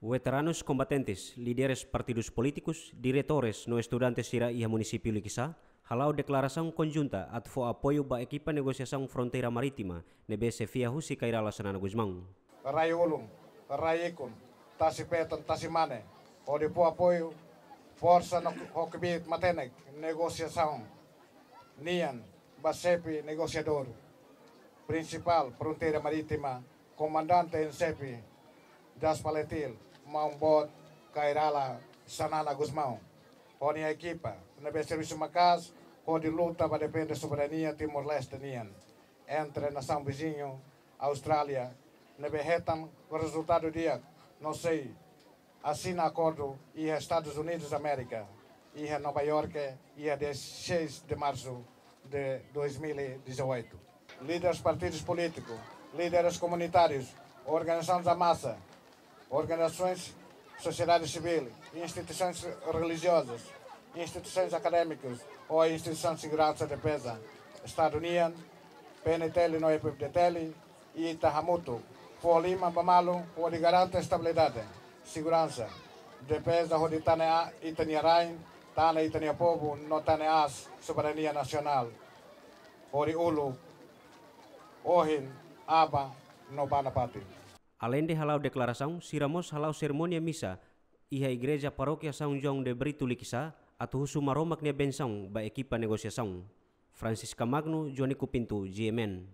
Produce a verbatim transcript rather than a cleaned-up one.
Veteranus kombatentes, líderes partidus polítikus, diretores no estudante sira iha munisípiu Likisá hala'o deklarasaun konjunta atu fó apoiu ba ekipa negosiasaun fronteira marítima ne'ebé xefia husi Kay Rala Xanana Gusmão. Rai ulun, rai ikun, tasi-feton, tasi-mane, hodi fó apoiu, forsa no ho kbiit matenek negosiasaun nian ba xefe negosiadór prinsipál fronteira marítima, komandante en xefe Jas Falatil, maun boot Kay Rala Xanana Gusmão, ho nia ekipa ne'ebé servisu maka'as hodi luta ba defende soberania Timor-Leste nian entre nasaun viziñu Austrália, ne'ebé hetan rezultadu di'ak no sei asina akordu iha Estadus Unidus Amérika, iha Nova Iorke, iha dia seis de março de dois mil e dezoito. Líderes partidus polítikus, líderes komunitárius, organizasaun da masa, organizasaun sosiedade sivíl, instituisoens relijiozas, instituisoens akadémikas ho instituisoens seguransa defeza Estadu nian, P N T L no F F D T L, ita hamutuk fó liman ba malu hodi garante estabilidade, seguransa, defeza hodi tane a ita-nia rain, tane ita-nia povu no tane aas soberania nasionál, hori uluk, ohin, aban no ba nafatin. Aleinde hala'o deklarasaun, sira mós hala'o serimónia misa iha Igreja Parókia São João de Brito Likisá atu husu Maromak nia bensaun ba ekipa negosiasaun. Francisca Magno, Joanico Pinto, G M N.